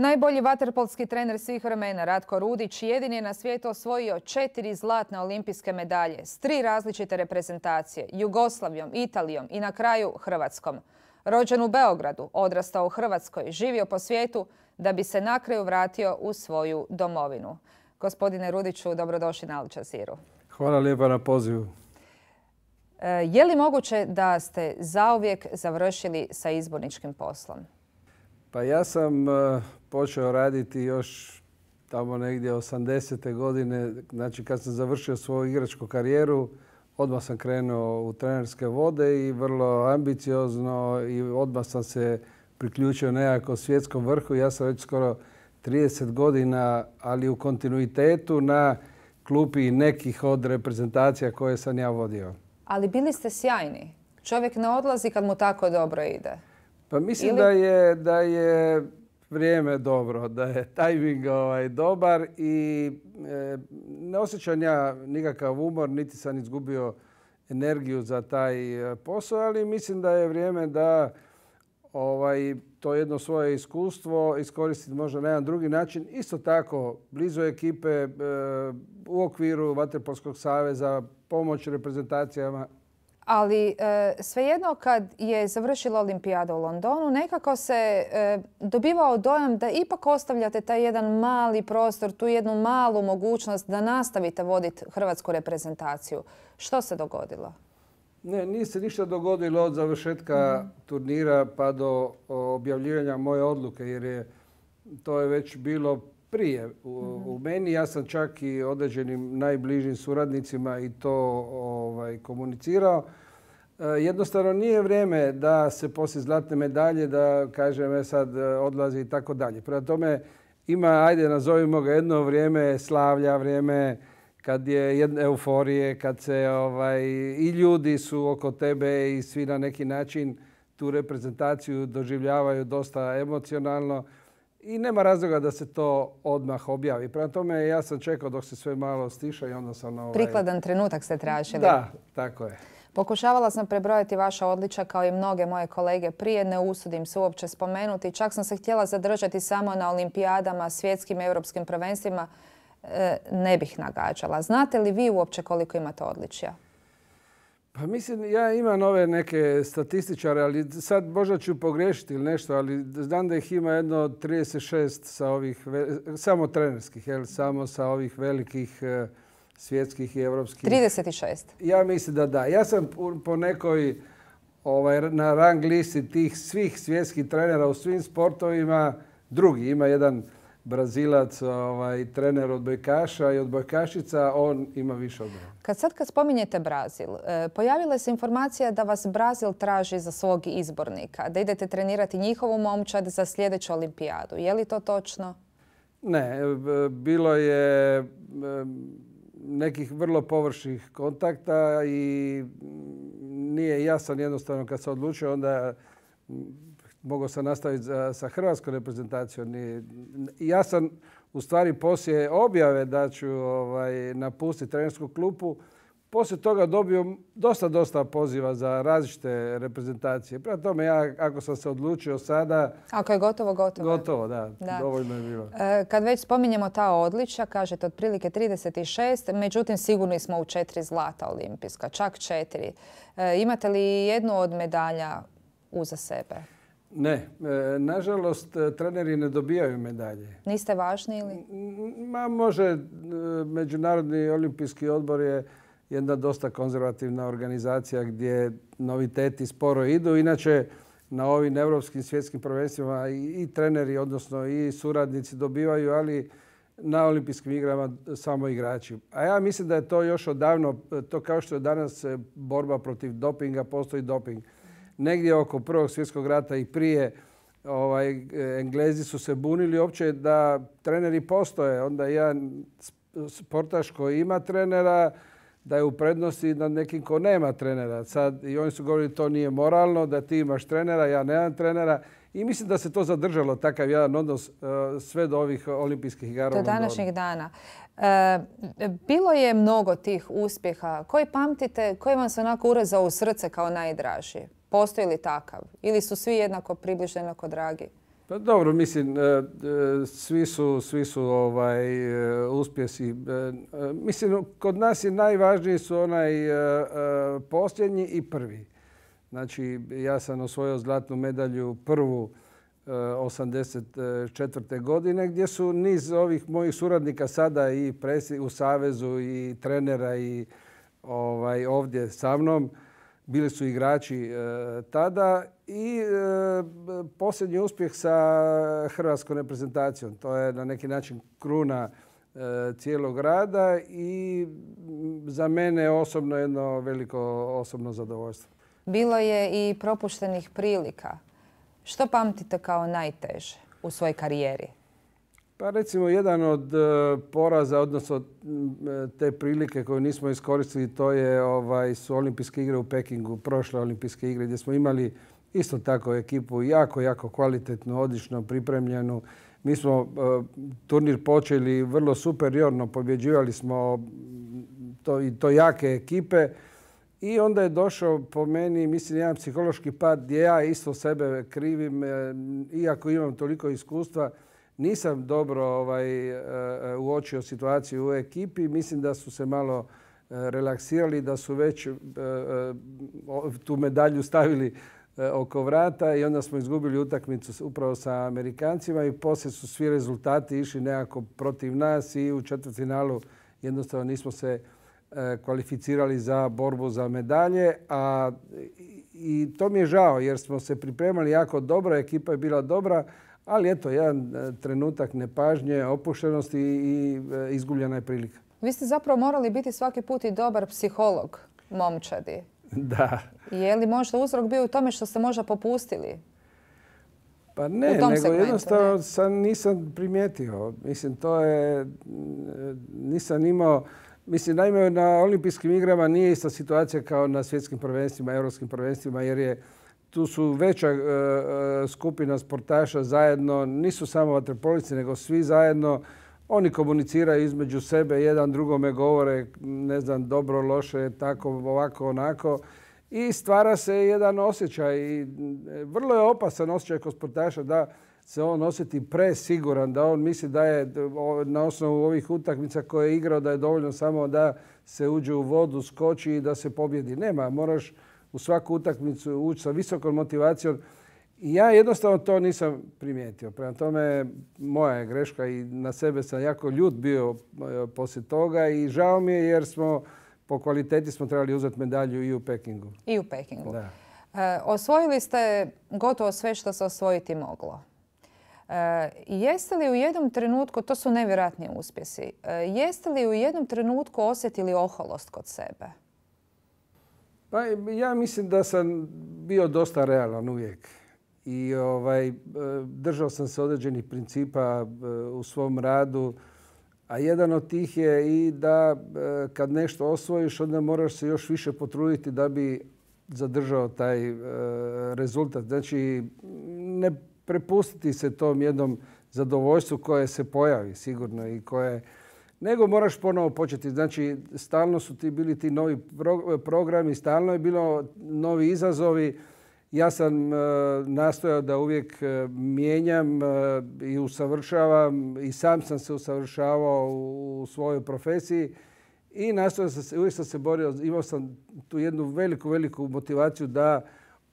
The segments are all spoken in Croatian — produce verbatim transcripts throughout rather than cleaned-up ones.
Najbolji vaterpolski trener svih vremena, Ratko Rudić, jedini je na svijetu osvojio četiri zlatne olimpijske medalje s tri različite reprezentacije, Jugoslavijom, Italijom i na kraju Hrvatskom. Rođen u Beogradu, odrastao u Hrvatskoj, živio po svijetu da bi se na kraju vratio u svoju domovinu. Gospodine Rudiću, dobrodošli na Al Jazeeru. Hvala lijepa na pozivu. Je li moguće da ste zauvijek završili sa izborničkim poslom? Pa ja sam počeo raditi još tamo negdje osamdesete godine. Znači kad sam završio svoju igračku karijeru, odmah sam krenuo u trenerske vode i vrlo ambiciozno i odmah sam se priključio nekako svjetskom vrhu. Ja sam već skoro trideset godina, ali u kontinuitetu na klupi nekih od reprezentacija koje sam ja vodio. Ali bili ste sjajni. Čovjek ne odlazi kad mu tako dobro ide. Pa mislim Ili... da, je, da je vrijeme dobro, da je tajming ovaj, dobar i e, ne osjećam ja nikakav umor, niti sam izgubio energiju za taj posao, ali mislim da je vrijeme da ovaj, to jedno svoje iskustvo iskoristiti možda na jedan drugi način. Isto tako, blizu ekipe, e, u okviru Vaterpolskog saveza, pomoć reprezentacijama. Ali e, svejedno kad je završila olimpijada u Londonu, nekako se e, dobivao dojam da ipak ostavljate taj jedan mali prostor, tu jednu malu mogućnost da nastavite voditi hrvatsku reprezentaciju. Što se dogodilo? Ne, nije se ništa dogodilo od završetka mm-hmm. turnira pa do objavljivanja moje odluke, jer je to je već bilo prije u, mm-hmm. u meni. Ja sam čak i određenim najbližim suradnicima i to ovaj, komunicirao. E, jednostavno nije vrijeme da se poslije zlatne medalje da kažem e, sad odlazi i tako dalje. Prema tome ima, ajde nazovimo ga, jedno vrijeme slavlja, vrijeme kad je jedne euforije, kad se ovaj, i ljudi su oko tebe i svi na neki način tu reprezentaciju doživljavaju dosta emocionalno. I nema razloga da se to odmah objavi. Prema tome ja sam čekao dok se sve malo stiša i onda sam... Ovaj... Prikladan trenutak ste tražili. Da, tako je. Pokušavala sam prebrojati vaša odličja kao i mnoge moje kolege prije. Ne usudim se uopće spomenuti. Čak sam se htjela zadržati samo na olimpijadama, svjetskim i europskim prvenstvima. E, ne bih nagađala. Znate li vi uopće koliko imate odličja? Pa mislim, ja imam ove neke statističare, ali sad možda ću pogriješiti ili nešto, ali znam da ih ima jedno trideset šest sa ovih, samo trenerskih, jel, samo sa ovih velikih svjetskih i europskih. trideset šest? Ja mislim da da. Ja sam po nekoj ovaj, na rang listi tih svih svjetskih trenera u svim sportovima drugi. Ima jedan Brazilac, ovaj, trener odbojkaša i odbojkašica, on ima više od mene. Kad sad kad spominjete Brazil, pojavila se informacija da vas Brazil traži za svog izbornika, da idete trenirati njihovu momčad za sljedeću olimpijadu. Je li to točno? Ne, bilo je nekih vrlo površnih kontakta i nije jasan jednostavno kad se odlučio, onda mogao sam nastaviti za, sa hrvatskom reprezentacijom. Ja sam u stvari poslije objave da ću ovaj, napustiti trenersku klupu, poslije toga dobio dosta, dosta poziva za različite reprezentacije. Prema tome, ja ako sam se odlučio sada... Ako je gotovo, gotovo. Gotovo, da. da. Dovoljno je bilo. E, kad već spominjemo ta odličja, kažete otprilike trideset šest, međutim sigurni smo u četiri zlata olimpijska, čak četiri. E, imate li jednu od medalja uza sebe? Ne, nažalost treneri ne dobijaju medalje. Niste važni ili? Ma, može, Međunarodni olimpijski odbor je jedna dosta konzervativna organizacija gdje noviteti sporo idu. Inače, na ovim europskim svjetskim prvenstvima i, i treneri, odnosno i suradnici dobivaju, ali na olimpijskim igrama samo igrači. A ja mislim da je to još odavno, to kao što je danas borba protiv dopinga, postoji doping. Negdje oko Prvog svjetskog rata i prije ovaj, Englezi su se bunili uopće da treneri postoje. Onda jedan sportaš koji ima trenera da je u prednosti nad nekim ko nema trenera. Sad, i oni su govorili to nije moralno, da ti imaš trenera, ja nemam trenera. I mislim da se to zadržalo, takav jedan odnos sve do ovih olimpijskih igara. Do današnjih dana. E, bilo je mnogo tih uspjeha. Koji pamtite, koji vam se onako urezao u srce kao najdraži? Postoji li takav? Ili su svi jednako približno, jednako dragi? Pa dobro, mislim, svi su, svi su ovaj, uspjesi. Mislim, kod nas je najvažniji su onaj posljednji i prvi. Znači, ja sam osvojio zlatnu medalju prvu osamdeset četvrte godine gdje su niz ovih mojih suradnika sada i u Savezu i trenera i ovaj, ovdje sa mnom. Bili su igrači e, tada i e, posljednji uspjeh sa hrvatskom reprezentacijom. To je na neki način kruna e, cijelog rada i za mene osobno jedno veliko osobno zadovoljstvo. Bilo je i propuštenih prilika. Što pamtite kao najteže u svojoj karijeri? Pa recimo jedan od poraza, odnosno te prilike koju nismo iskoristili, to je ovaj, su olimpijske igre u Pekingu, prošle olimpijske igre gdje smo imali isto tako ekipu jako, jako kvalitetnu, odlično pripremljenu. Mi smo uh, turnir počeli vrlo superiorno, pobjeđivali smo to, i to jake ekipe. I onda je došao po meni, mislim, jedan psihološki pad gdje ja isto sebe krivim, iako imam toliko iskustva. Nisam dobro ovaj, uočio situaciju u ekipi. Mislim da su se malo relaksirali, da su već tu medalju stavili oko vrata i onda smo izgubili utakmicu upravo sa Amerikancima i poslije su svi rezultati išli nekako protiv nas i u četvrtfinalu jednostavno nismo se kvalificirali za borbu za medalje. A, i to mi je žao jer smo se pripremali jako dobro, ekipa je bila dobra, ali eto, jedan trenutak nepažnje, opuštenosti i izgubljena je prilika. Vi ste zapravo morali biti svaki put i dobar psiholog momčadi. Da. Je li možda uzrok bio u tome što ste možda popustili? Pa ne, nego segmentu, jednostavno ne? Sam nisam primijetio. Mislim, to je, nisam imao, mislim, naime na olimpijskim igrama nije ista situacija kao na svjetskim prvenstvima, europskim prvenstvima, jer je tu su veća uh, skupina sportaša zajedno, nisu samo vaterpolisti, nego svi zajedno. Oni komuniciraju između sebe, jedan drugome govore, ne znam, dobro, loše, tako, ovako, onako. I stvara se jedan osjećaj. I vrlo je opasan osjećaj kod sportaša da se on osjeti presiguran, da on misli da je na osnovu ovih utakmica koje je igrao da je dovoljno samo da se uđe u vodu, skoči i da se pobjedi. Nema, moraš u svaku utakmicu ući sa visokom motivacijom. I ja jednostavno to nisam primijetio. Prema tome, moja je greška i na sebe sam jako ljut bio poslije toga i žao mi je jer smo po kvaliteti smo trebali uzeti medalju i u Pekingu. I u Pekingu. Da. E, osvojili ste gotovo sve što se osvojiti moglo. E, jeste li u jednom trenutku, to su nevjerojatni uspjesi, e, jeste li u jednom trenutku osjetili oholost kod sebe? Pa ja mislim da sam bio dosta realan uvijek. I ovaj, držao sam se određenih principa u svom radu, a jedan od tih je i da kad nešto osvojiš, onda moraš se još više potruditi da bi zadržao taj rezultat. Znači, ne prepustiti se tom jednom zadovoljstvu koje se pojavi sigurno i koje, nego moraš ponovo početi. Znači, stalno su ti bili ti novi programi, stalno je bilo novi izazovi. Ja sam uh, nastojao da uvijek uh, mijenjam uh, i usavršavam i sam sam se usavršavao u, u svojoj profesiji i nastojao sam se, uvijek sam se borio, imao sam tu jednu veliku, veliku motivaciju da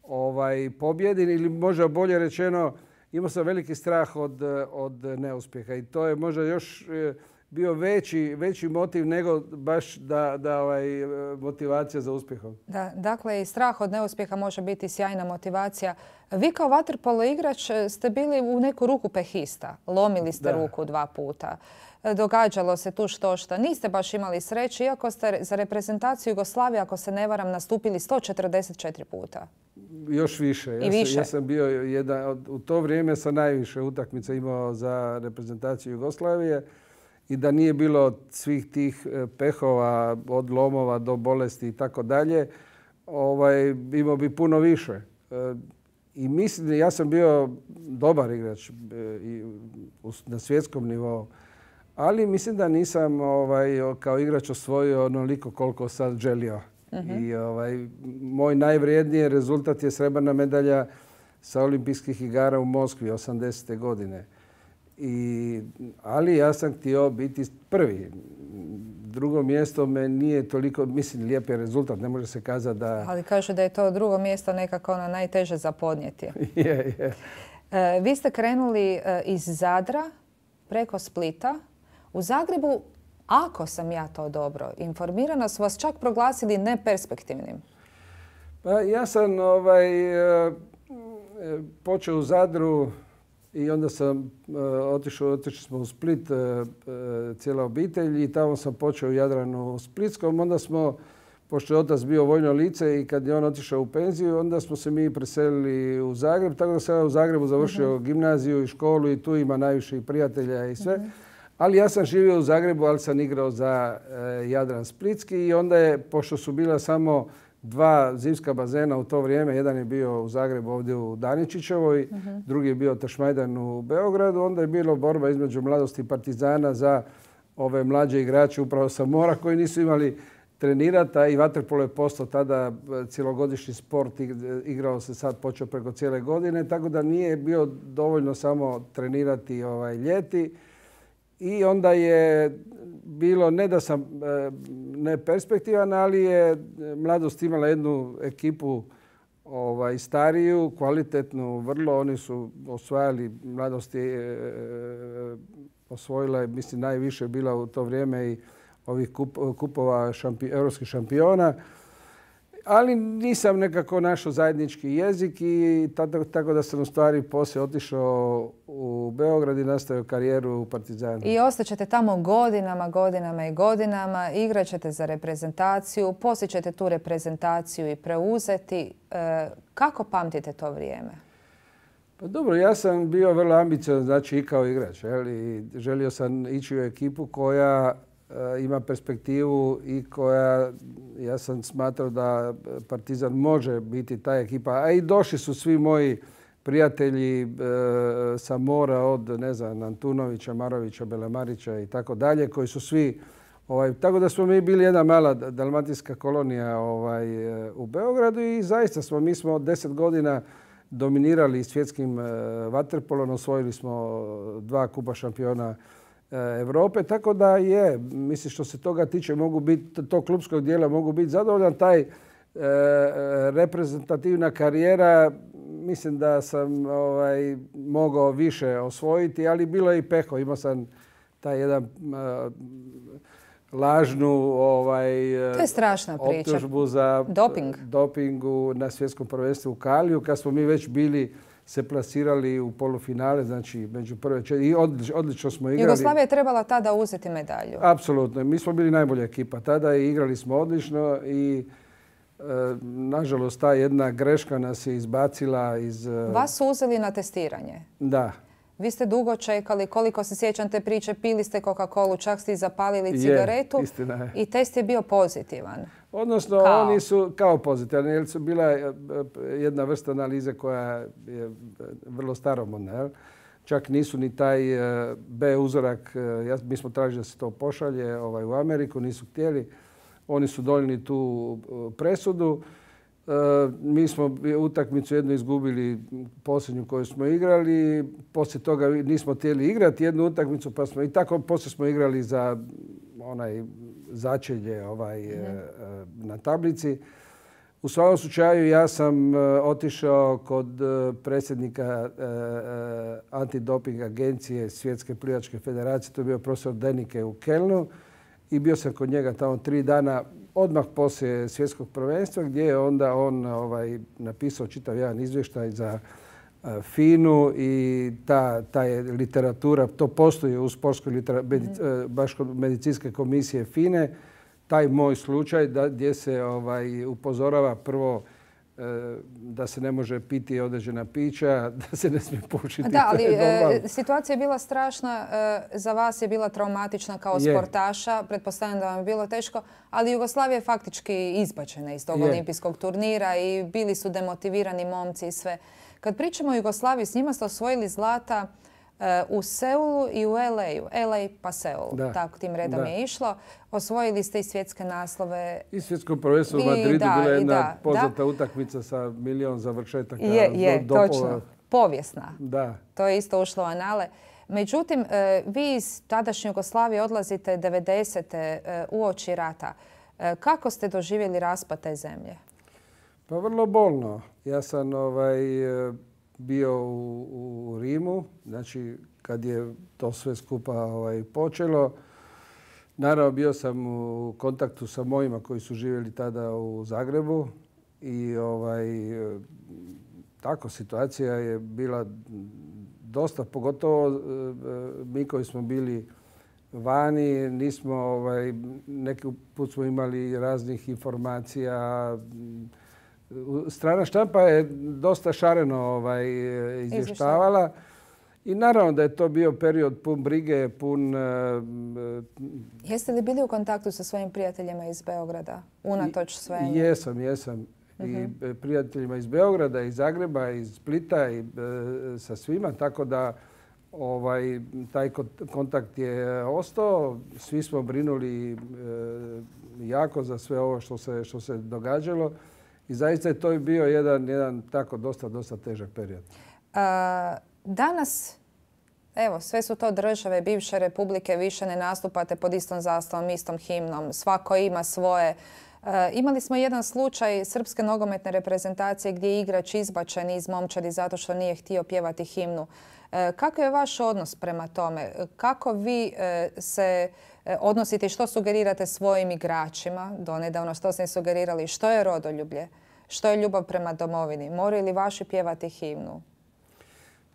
ovaj, pobjedim ili možda bolje rečeno imao sam veliki strah od, od neuspjeha i to je možda još uh, bio veći, veći motiv nego baš da, da ovaj, motivacija za uspjehom. Da, dakle, i strah od neuspjeha može biti sjajna motivacija. Vi kao vaterpolo igrač ste bili u neku ruku pehista. Lomili ste da. ruku dva puta. Događalo se tu što šta. Niste baš imali sreće, iako ste za reprezentaciju Jugoslavije, ako se ne varam, nastupili sto četrdeset četiri puta. Još više. Ja, I više. Sam, ja sam bio jedan, u to vrijeme sam najviše utakmica imao za reprezentaciju Jugoslavije. I da nije bilo svih tih pehova od lomova do bolesti i tako dalje, ovaj, imao bi puno više. I mislim, ja sam bio dobar igrač i na svjetskom nivou, ali mislim da nisam ovaj, kao igrač osvojio onoliko koliko sam želio. Uh-huh. I ovaj, moj najvrijedniji rezultat je srebrna medalja sa olimpijskih igara u Moskvi osamdesete godine. I, ali ja sam htio biti prvi. Drugo mjesto me nije toliko, mislim, lijep je rezultat, ne može se kazati da... Ali kažu da je to drugo mjesto nekako ono najteže za podnijeti. Je, je. E, vi ste krenuli e, iz Zadra preko Splita. U Zagrebu, ako sam ja to dobro informirana, su vas čak proglasili neperspektivnim. Pa ja sam ovaj, e, počeo u Zadru i onda sam e, otišao, otišli smo u Split, e, e, cijela obitelj, i tamo sam počeo u Jadranu Splitskom. Onda smo, pošto je otac bio vojno lice i kad je on otišao u penziju, onda smo se mi preselili u Zagreb. Tako da sam ja u Zagrebu završio uh-huh. gimnaziju i školu i tu ima najviše i prijatelja i sve. Uh-huh. Ali ja sam živio u Zagrebu, ali sam igrao za e, Jadran Splitski, i onda je, pošto su bila samo dva zimska bazena u to vrijeme, jedan je bio u Zagrebu ovdje u Daničićevoj, uh-huh. drugi je bio Tašmajdan u Beogradu, onda je bilo borba između Mladosti i Partizana za ove mlađe igrače upravo sa mora koji nisu imali trenirati, a i vaterpolo je postao tada cjelogodišnji sport, igrao se sad, počeo preko cijele godine, tako da nije bio dovoljno samo trenirati ovaj, ljeti. I onda je bilo, ne da sam neperspektivan, ali je Mladost imala jednu ekipu ovaj, stariju, kvalitetnu, vrlo. Oni su osvajali, Mladost je e, osvojila, mislim, najviše bila u to vrijeme i ovih kup, kupova šampi, europskih šampiona. Ali nisam nekako našao zajednički jezik i tako, tako da sam u stvari poslije otišao u Beograd i nastavio karijeru u Partizanu. I ostaćete tamo godinama, godinama i godinama, igrat ćete za reprezentaciju, poslije ćete tu reprezentaciju i preuzeti. E, kako pamtite to vrijeme? Pa dobro, ja sam bio vrlo ambiciozan, znači i kao igrač. I želio sam ići u ekipu koja ima perspektivu i koja, ja sam smatrao da Partizan može biti ta ekipa. A i došli su svi moji prijatelji e, sa mora, od, ne znam, Antunovića, Marovića, Belemarića i tako dalje, koji su svi... Ovaj, tako da smo mi bili jedna mala dalmatinska kolonija ovaj, u Beogradu i zaista smo, mi smo deset godina dominirali svjetskim e, vaterpolom, osvojili smo dva kupa šampiona Europe, tako da je, mislim, što se toga tiče, mogu biti, tog klubskog dijela mogu biti zadovoljan. Taj e, reprezentativna karijera, mislim da sam ovaj, mogao više osvojiti, ali bilo je i peho. Imao sam taj jedan uh, lažnu ovaj, to je strašna priča. Optužbu za Doping. dopingu na svjetskom prvenstvu u Kaliju, kad smo mi već bili se plasirali u polufinale, znači među prve četiri. I odlično, odlično smo igrali. Jugoslavija je trebala tada uzeti medalju. Apsolutno. Mi smo bili najbolja ekipa tada i igrali smo odlično i e, nažalost ta jedna greška nas je izbacila iz... Vas su uzeli na testiranje. Da. Vi ste dugo čekali, koliko se sjećam te priče, pili ste Coca-Colu, čak ste i zapalili cigaretu. Je, istina je. I test je bio pozitivan. Odnosno, kao? Oni su kao pozitivni, jer su bila jedna vrsta analize koja je vrlo staromodna. Čak nisu ni taj B uzorak, mi smo tražili da se to pošalje ovaj, u Ameriku, nisu htjeli. Oni su donijeli tu presudu. Mi smo utakmicu jednu izgubili, posljednju koju smo igrali. Poslije toga nismo htjeli igrati jednu utakmicu, pa smo i tako poslije smo igrali za onaj začelje ovaj, mm. na tablici. U svakom slučaju ja sam otišao kod predsjednika antidoping agencije Svjetske plivačke federacije, to je bio profesor Denike u Kelnu, i bio sam kod njega tamo tri dana odmah poslije svjetskog prvenstva, gdje je onda on ovaj, napisao čitav jedan izvještaj za FINA-u i ta, ta je literatura, to postoji u sportskoj literaturi, baš kod medicinske komisije FINA-e, taj moj slučaj da, gdje se ovaj, upozorava prvo da se ne može piti određena pića, da se ne smije pušiti. Da, ali e, situacija je bila strašna, e, za vas je bila traumatična kao je. sportaša, pretpostavljam da vam je bilo teško, ali Jugoslavija je faktički izbačena iz tog je. olimpijskog turnira i bili su demotivirani momci i sve. Kad pričamo o Jugoslaviji, s njima ste osvojili zlata, U Seulu i u L A-u. L A pa Seul, Da. tako tim redom Da. je išlo. Osvojili ste i svjetske naslove. I svjetsko prvenstvo u I Madridu da, bila je i jedna da, poznata da. utakmica sa milion završetaka. Je, je, do- dopova. točno. Povijesna. Da. To je isto ušlo u anale. Međutim, e, vi iz tadašnje Jugoslavije odlazite devedesete uoči rata. E, Kako ste doživjeli raspad te zemlje? Pa vrlo bolno. Ja sam ovaj, e, bio u, u Rimu, znači kad je to sve skupa ovaj, počelo. Naravno, bio sam u kontaktu sa mojima koji su živjeli tada u Zagrebu i ovaj, e, tako situacija je bila dosta, pogotovo e, mi koji smo bili vani, nismo, ovaj, neki put smo imali raznih informacija. Strana štampa je dosta šareno ovaj, izvještavala. I naravno da je to bio period pun brige, pun... Jeste li bili u kontaktu sa svojim prijateljima iz Beograda, unatoč svemu? Jesam, jesam. I prijateljima iz Beograda, iz Zagreba, iz Splita i e, sa svima, tako da ovaj, taj kontakt je ostao. Svi smo brinuli e, jako za sve ovo što se, što se događalo i zaista je to bio jedan, jedan tako dosta, dosta težak period. A, danas, evo, sve su to države, bivše republike, više ne nastupate pod istom zastavom, istom himnom, svako ima svoje. E, imali smo jedan slučaj srpske nogometne reprezentacije gdje je igrač izbačen iz momčadi zato što nije htio pjevati himnu. E, kako je vaš odnos prema tome? Kako vi e, se e, odnosite i što sugerirate svojim igračima? Donedavno što ste sugerirali? Što je rodoljublje? Što je ljubav prema domovini? Moraju li vaši pjevati himnu?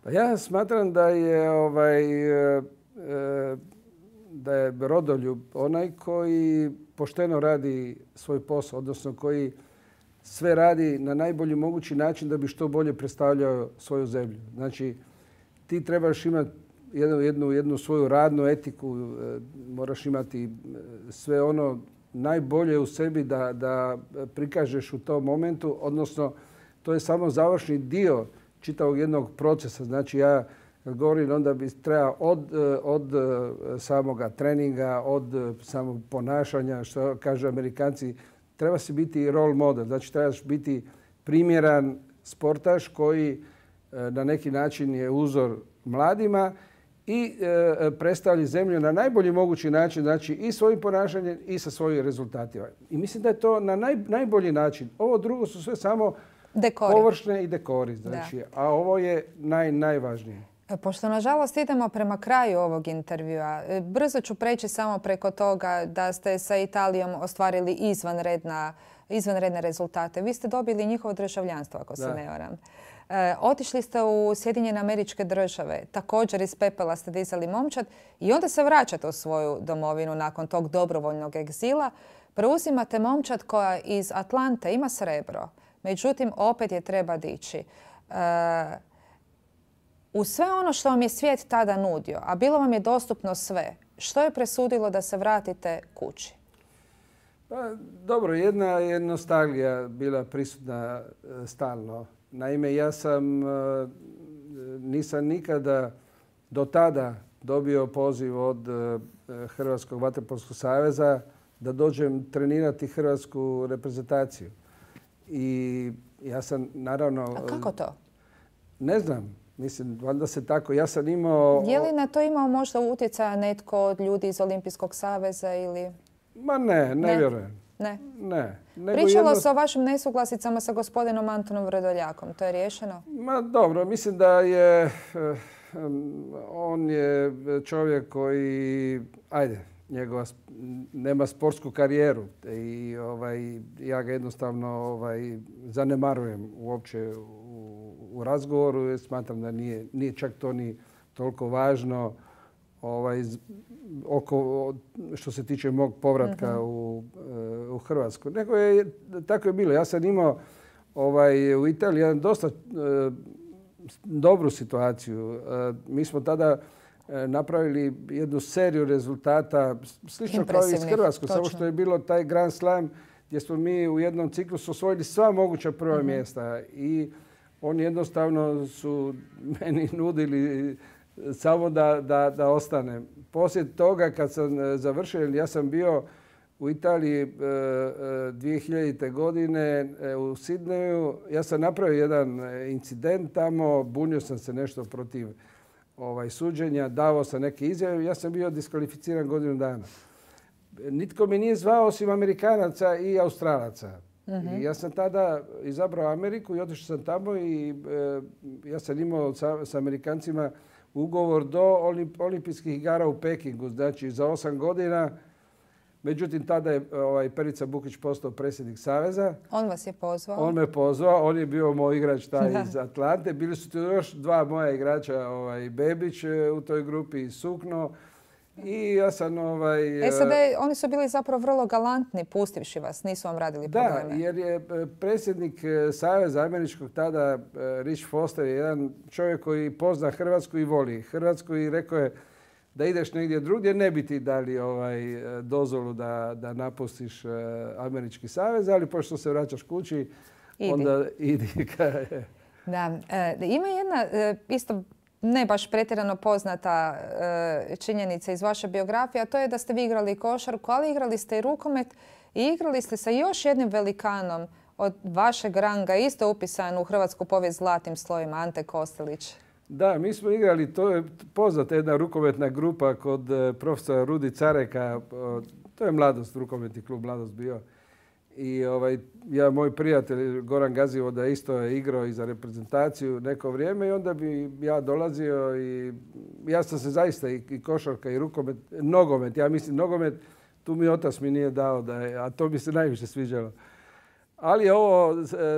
Pa ja smatram da je ovaj, e, da je rodoljub onaj koji pošteno radi svoj posao, odnosno koji sve radi na najbolji mogući način da bi što bolje predstavljao svoju zemlju. Znači, ti trebaš imati jednu, jednu, jednu svoju radnu etiku, moraš imati sve ono najbolje u sebi da, da prikažeš u tom momentu, odnosno to je samo završni dio čitavog jednog procesa. Znači, ja kad govorim, onda bi treba od, od samoga treninga, od samog ponašanja, što kažu Amerikanci, treba se biti role model. Znači, trebaš biti primjeran sportaš koji na neki način je uzor mladima i e, predstavlja zemlju na najbolji mogući način, znači i svojim ponašanjem i sa svojim rezultatima. I mislim da je to na naj, najbolji način. Ovo drugo su sve samo dekori. Površne i dekori. Znači, a ovo je naj, najvažnije. Pošto nažalost idemo prema kraju ovog intervjua, brzo ću preći samo preko toga da ste sa Italijom ostvarili izvanredna, izvanredne rezultate. Vi ste dobili njihovo državljanstvo, ako se ne varam. E, otišli ste u Sjedinjene Američke Države, također iz pepela ste dizali momčad i onda se vraćate u svoju domovinu nakon tog dobrovoljnog egzila. Preuzimate momčad koja iz Atlante ima srebro, međutim opet je treba dići. E, U sve ono što vam je svijet tada nudio, a bilo vam je dostupno sve, što je presudilo da se vratite kući? Pa, dobro, jedna je nostalgija bila prisutna stalno. Naime, ja sam nisam nikada do tada dobio poziv od Hrvatskog vaterpolskog saveza da dođem trenirati hrvatsku reprezentaciju. I ja sam naravno... A kako to? Ne znam. Mislim, valjda se tako. Ja sam imao... Je li na to imao možda utjecaja netko od ljudi iz Olimpijskog saveza ili... Ma ne, ne, ne. vjerujem. Ne? Ne. Nego Pričalo jedno... se o vašim nesuglasicama sa gospodinom Antonom Vrdoljakom. To je riješeno? Ma dobro, mislim da je... On je čovjek koji... Ajde, njegova nema sportsku karijeru i ovaj, ja ga jednostavno ovaj, zanemarujem uopće u razgovoru jer smatram da nije, nije čak to ni toliko važno ovaj, oko, što se tiče mog povratka mm-hmm. u, u Hrvatsku. Nego je, tako je bilo. Ja sam imao ovaj, u Italiji jedan dosta eh, dobru situaciju. Eh, mi smo tada eh, napravili jednu seriju rezultata slično kao i iz Hrvatskog, samo što je bilo taj Grand Slam gdje smo mi u jednom ciklusu osvojili sva moguća prva mm-hmm. mjesta i oni jednostavno su meni nudili samo da, da, da ostane. Poslije toga kad sam završio, ja sam bio u Italiji dvije hiljadite. godine u Sidneju. Ja sam napravio jedan incident tamo, bunio sam se nešto protiv ovaj, suđenja, davao sam neke izjave. Ja sam bio diskvalificiran godinu dana. Nitko mi nije zvao osim Amerikanaca i Australaca. I ja sam tada izabrao Ameriku i otišao sam tamo i e, ja sam imao sa, sa Amerikancima ugovor do olimp, olimpijskih igara u Pekingu, znači za osam godina. Međutim, tada je ovaj, Perica Bukić postao predsjednik Saveza. On vas je pozvao? On me pozvao, on je bio moj igrač taj da. iz Atlante. Bili su tu još dva moja igrača, ovaj, Bebić u toj grupi i Sukno. I ja sam ovaj... E sad, oni su bili zapravo vrlo galantni, pustivši vas, nisu vam radili probleme. Da, jer je predsjednik Saveza američkog tada, Rich Foster, je jedan čovjek koji pozna Hrvatsku i voli Hrvatsku i rekao je da ideš negdje drugdje, ne bi ti dali ovaj, dozvolu da, da napustiš američki savez, ali pošto se vraćaš kući, idi. onda idi. Da, e, ima jedna isto ne baš pretjerano poznata e, činjenica iz vaše biografije, a to je da ste vi igrali košarku, ali igrali ste i rukomet i igrali ste sa još jednim velikanom od vašeg ranga, isto upisan u hrvatsku povijest zlatnim slovima, Ante Kostelić. Da, mi smo igrali, to je poznata jedna rukometna grupa kod profesora Rudi Careka, to je Mladost, rukometni klub Mladost bio. I ovaj, ja, moj prijatelj Goran Gazivoda isto je igrao i za reprezentaciju neko vrijeme i onda bi ja dolazio i ja sam se zaista i, i košarka i rukomet, nogomet, ja mislim nogomet, tu mi otac mi nije dao, da je, a to mi se najviše sviđalo. Ali ovo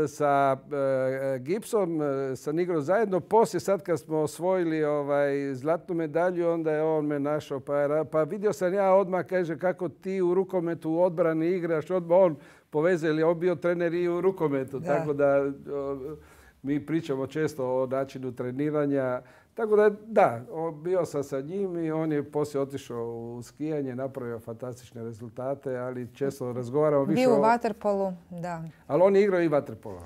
sa e, Gipsom sam igrao zajedno. Poslije sad kad smo osvojili ovaj, zlatnu medalju, onda je on me našao. Pa, pa vidio sam ja odmah, kaže, kako ti u rukometu u odbrani igraš. Odmah on povezao, jer je on bio trener i u rukometu. Da. Tako da o, mi pričamo često o načinu treniranja. Tako da, da, bio sam sa njim i on je poslije otišao u skijanje, napravio fantastične rezultate, ali često razgovaramo više bio u vaterpolu, da. Ali on je igrao i vaterpola,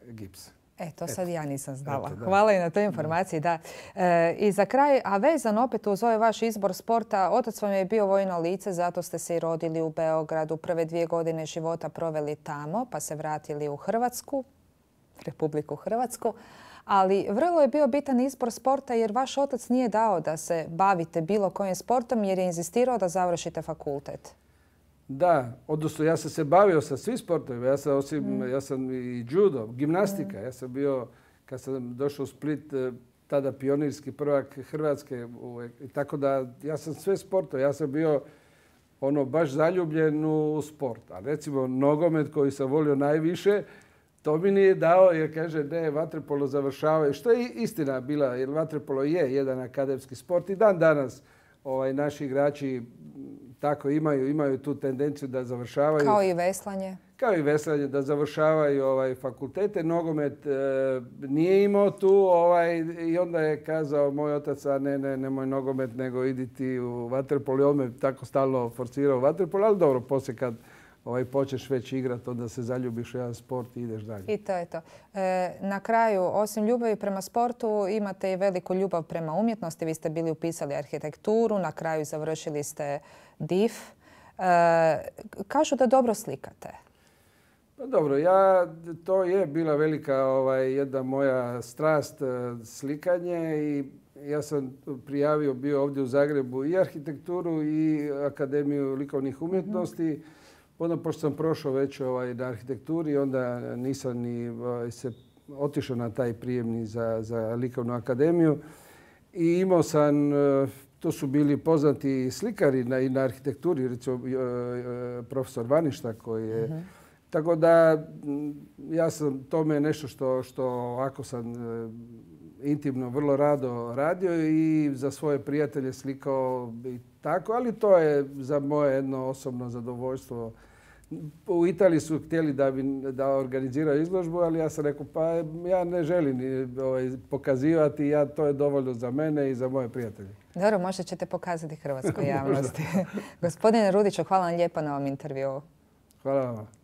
Gips. E, to sad Eto. ja nisam znala. Eto, hvala i na toj informaciji, da. E, I za kraj, a vezan opet uz ovaj vaš izbor sporta, otac vam je bio vojno lice, zato ste se i rodili u Beogradu. Prve dvije godine života proveli tamo, pa se vratili u Hrvatsku, Republiku Hrvatsku. Ali vrlo je bio bitan izbor sporta jer vaš otac nije dao da se bavite bilo kojim sportom jer je inzistirao da završite fakultet. Da, odnosno ja sam se bavio sa svim sportovima. Ja sam, osim, mm. ja sam i judo, gimnastika. Mm. Ja sam bio, kad sam došao u Split, tada pionirski prvak Hrvatske. I tako da ja sam sve sportove. Ja sam bio ono baš zaljubljen u sport. A recimo nogomet koji sam volio najviše, to mi nije dao jer kaže ne, vaterpolo završavaju. Što je istina bila, jer vaterpolo je jedan akademski sport i dan danas ovaj, naši igrači tako imaju, imaju tu tendenciju da završavaju. Kao i veslanje. Kao i veslanje, da završavaju ovaj, fakultete. Nogomet e, nije imao tu ovaj, i onda je kazao moj otac, a ne, ne, nemoj nogomet, nego idi ti u vaterpolo. I on me tako stalno forsirao u vaterpolo, ali dobro, poslije kad ovaj, počneš već igrati, onda se zaljubiš u jedan sport i ideš dalje. I to je to. E, na kraju, osim ljubavi prema sportu, imate i veliku ljubav prema umjetnosti. Vi ste bili upisali arhitekturu, na kraju završili ste D I F. E, kažu da dobro slikate. Pa dobro, ja, to je bila velika ovaj, jedna moja strast, slikanje i ja sam prijavio bio ovdje u Zagrebu i arhitekturu i Akademiju likovnih umjetnosti. Mm-hmm. Onda, pošto sam prošao već ovaj, na arhitekturi, onda nisam ni ovaj, se otišao na taj prijemni za, za likovnu akademiju. I imao sam, to su bili poznati slikari na, i na arhitekturi, recimo profesor Vaništa koji je. Uh-huh. Tako da ja sam, to me je nešto što, što ako sam intimno vrlo rado radio i za svoje prijatelje slikao i tako, ali to je za moje jedno osobno zadovoljstvo. U Italiji su htjeli da, bi, da organiziraju izložbu, ali ja sam rekao pa ja ne želim ovaj, pokazivati, ja, to je dovoljno za mene i za moje prijatelje. Dobro, možda ćete pokazati hrvatskoj javnosti. Gospodine Rudiću, hvala vam lijepo na ovom intervjuu. Hvala vam.